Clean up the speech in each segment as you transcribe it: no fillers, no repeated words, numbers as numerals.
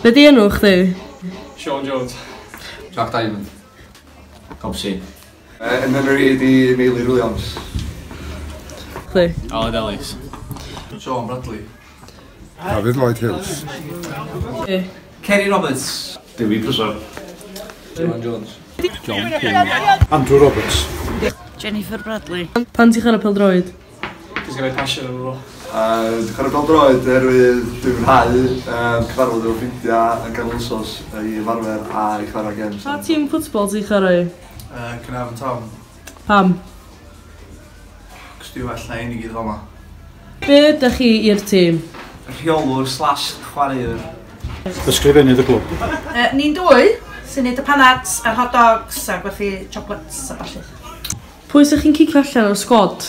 Be di enw chdi? Sean Jones. Jack Diamond. Copsey. Yn enw i di Meilir Williams. Chdi? Aled Ellis. Sean Bradley. David Lloyd Hughes. Chdi? Kerry Roberts. Dewi Prysor. Joan Jones. John King. Andrew Roberts. Jennifer Bradley. Pan ti'n chwarae pêl-droed? Cos gen i passion efo fo. Dwi'n chwarae pêl-droed oherwydd dwi'n mwynhau cyfarfod efo ffrindiau yn ganol wsos i ymarfer a i chwarae games. Pa tîm ffwtbol ti'n chwarae? Caernarfon Town. Pam? Cos dwi'n well na un i gyd fama. Be ydych chi i'r tîm? Rheolwr / chwaraewr. Ysgrifennydd y clwb. Ni'n dwy sy'n neud y panads a'r hot dogs a gwerthu chocolates a ballu. Pwy sy'ch chi'n cicio allan o'r sgwad?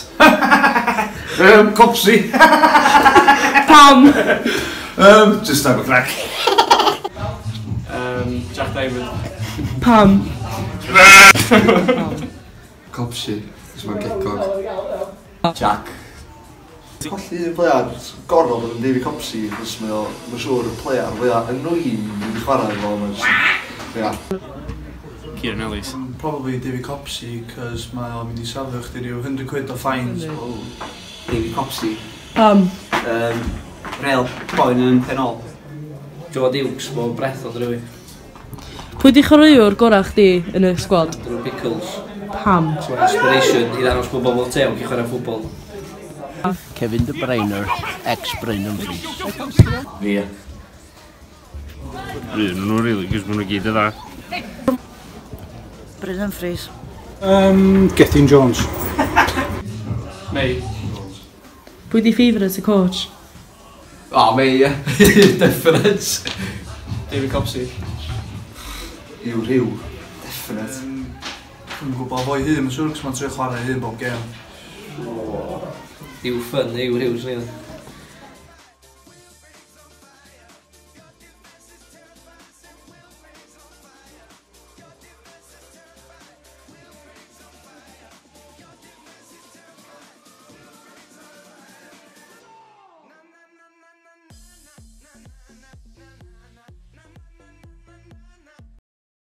Copsey. Pam? Just have a crack. Jack Diamond. Pam? Copsey, cos mae'n gecog. Jack. Colli un player, gorfod bod yn David Copsey, cos mae o, mae'n siŵr, y player fwyaf annoying i wedi chwarae efo. Mae'n just, ia. Kieran Ellis. Probably David Copsey, cos mae o'n mynd i safio chdi rhyw 100 quid o fines. Oh. David Copsey. Pam? Real poen yn penol. Joe Dukes, bod breath o drwy. Pwy di chwaraewr gorau chdi yn y sgwad? Drew Pickles. Pam? So inspiration i ddangos bod bobl tew yn chwarae ffwbol. Kevin De Bruyne, ex-Bryn Humphreys. Fi. Un nhw, really, cos maen nhw gyd yn dda. Bryn Humphreys. Gethin Jones. May. Pwy di favourite y coach? Oh, me, ie. Definite. David Copsey. Yw rhyw. Definite. Dwi'n gwybod fo'i hun, mae'n siŵr, cos mae'n trio chwarae hun bob gêm. Yw ffyn, yw rhyw, swn i'n.